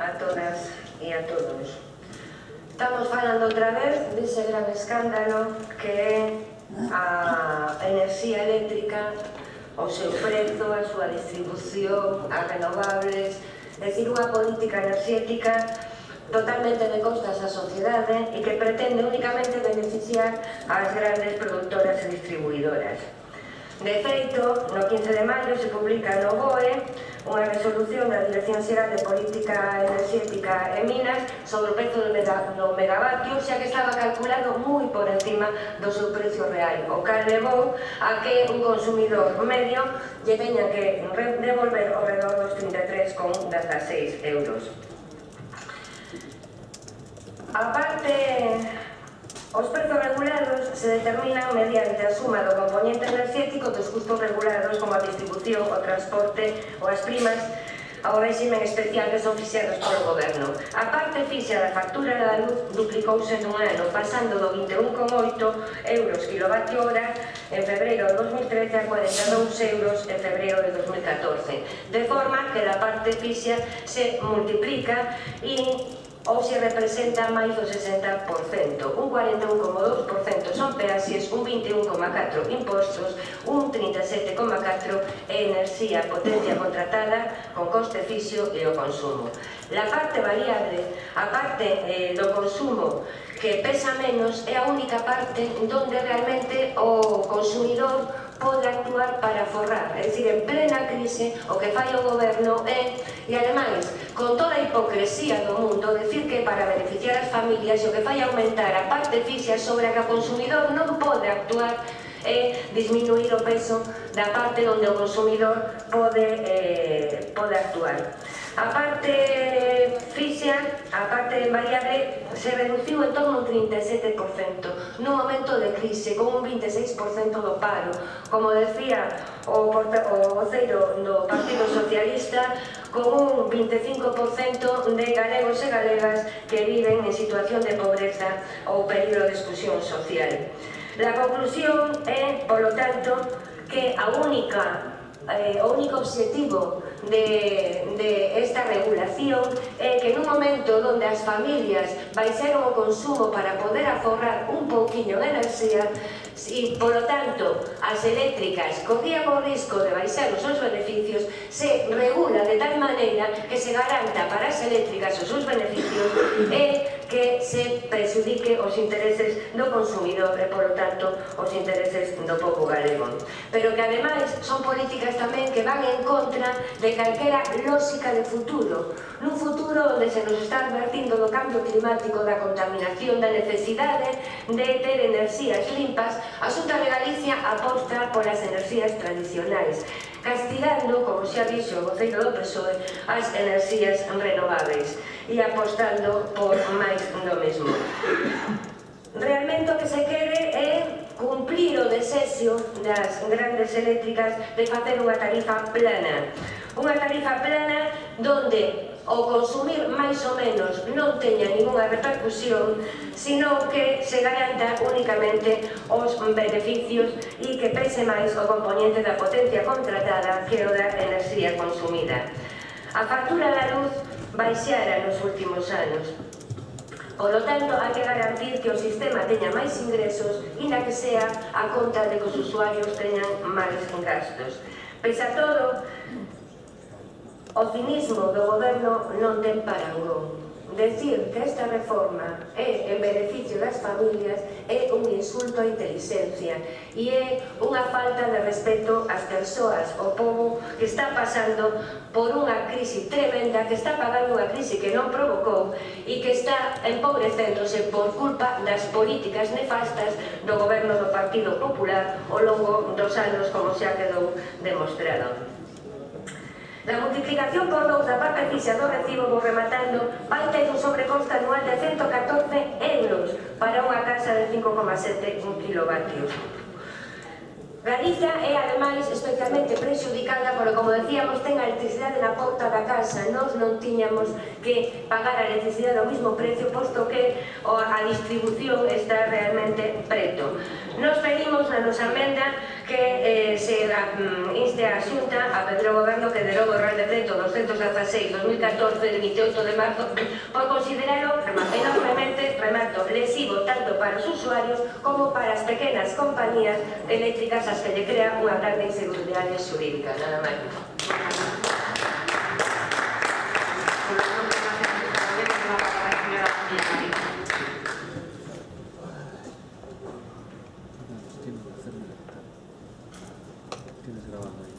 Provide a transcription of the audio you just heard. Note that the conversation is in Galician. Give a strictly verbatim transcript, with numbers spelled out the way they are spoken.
a todas e a todos. Estamos falando outra vez dese gran escándalo que é a enerxía eléctrica, o seu prezo, a súa distribución, as renovables, é dicir, unha política enerxética totalmente de costas á sociedade e que pretende únicamente beneficiar ás grandes produtoras e distribuidoras. De feito, no quince de maio se publica no B O E unha resolución da Dirección Xeral de Política Enerxética e Minas sobre o prezo do megavatio, xa que estaba calculado moi por encima do seu precio real, o cal levou a que un consumidor medio lle teña que devolver ao redor dos trinta e tres con dezaseis euros. A parte, os prezos regulados se determinan mediante a suma do componente enerxético dos custos regulados como a distribución, o transporte ou as primas ao régimen especial que son fixados polo goberno. A parte fixa da factura da luz duplicouse nun ano, pasando do vinte e un coma oito euros kilovatio hora en febreiro de dos mil trece a cuarenta e dous euros en febreiro de dos mil catorce, de forma que a parte fixa se multiplica e ou se representa máis do sesenta por cento, un cuarenta e un coma dous por cento son peaxes, un vinte e un coma catro por cento impostos, un trinta e sete coma catro por cento é enerxía potencia contratada con coste fixo e o consumo. La parte variable, a parte eh, do consumo que pesa menos, é a única parte onde realmente o consumidor pode actuar para forrar, é dicir, en plena crise o que fai o goberno é, e ademais, con toda a hipocresía do mundo, decir que para beneficiar as familias o que fai aumentar a parte fixa sobre a que o consumidor non pode actuar é disminuir o peso da parte onde o consumidor pode, eh, pode actuar. A parte fixa, a parte variable, se reduciu en torno a un trinta e sete por cento nun momento de crise, con un vinte e seis por cento do paro. Como decía o voceiro do Partido Socialista, con un vinte e cinco por cento de galegos e galegas que viven en situación de pobreza ou peligro de exclusión social. La conclusión é, polo tanto, que a única Eh, o único obxectivo de, de esta regulación é que nun momento onde as familias baixaron o consumo para poder aforrar un pouquiño de enerxía e, polo tanto, as eléctricas corrían o risco de baixar os seus beneficios, se regula de tal maneira que se garanta para as eléctricas os seus beneficios e que se prexudique os intereses do consumidor e, polo tanto, os intereses do povo galego. Pero que, ademais, son políticas tamén que van en contra de calquera lógica de futuro, nun futuro onde se nos está advertindo do cambio climático, da contaminación, da necesidade de ter enerxías limpas. A Xunta de Galicia aposta polas enerxías tradicionais, castigando, como xa dixo o voceiro do P S O E, as enerxías renovables e apostando por máis do mesmo. Realmente o que se quere é cumplir o desexo das grandes eléctricas de facer unha tarifa plana. Unha tarifa plana donde o consumir máis ou menos non teña ninguna repercusión, sino que se garanta únicamente os beneficios e que pese máis o componente da potencia contratada que o da enerxía consumida. A factura da luz baixara nos últimos anos. Por lo tanto, hai que garantir que o sistema teña máis ingresos e na que sea a conta de que os usuarios teñan máis gastos. Pese a todo, o cinismo do goberno non ten parangón. Decir que esta reforma é en beneficio das familias é un insulto á inteligencia e é unha falta de respeto ás persoas, ao povo que está pasando por unha crise tremenda, que está pagando unha crise que non provocou e que está empobrecéndose por culpa das políticas nefastas do goberno do Partido Popular ao longo dos anos, como xa quedou demostrado. La multiplicación por dous da parte fixa do recibo, vou rematando, vai ter un sobrecoste anual de ciento catorce euros para unha casa de cinco coma sete kilovatios. Galicia é, ademais, especialmente prexudicada porque, como decíamos, ten a electricidade na porta da casa. Nós non tiñamos que pagar a electricidade ao mismo precio, posto que a distribución está realmente preto. Nos pedimos na nosa emenda que eh, se um, inste a Xunta a pedir ao Goberno que derogue o Real Decreto doscientos dieciséis barra dos mil catorce de vinte e oito de marzo por considerarlo enormemente, remato, lesivo tanto para os usuarios como para as pequenas compañías eléctricas as que lle crea unha grande inseguridade xurídica. Nada máis. Tienes grabado ahí.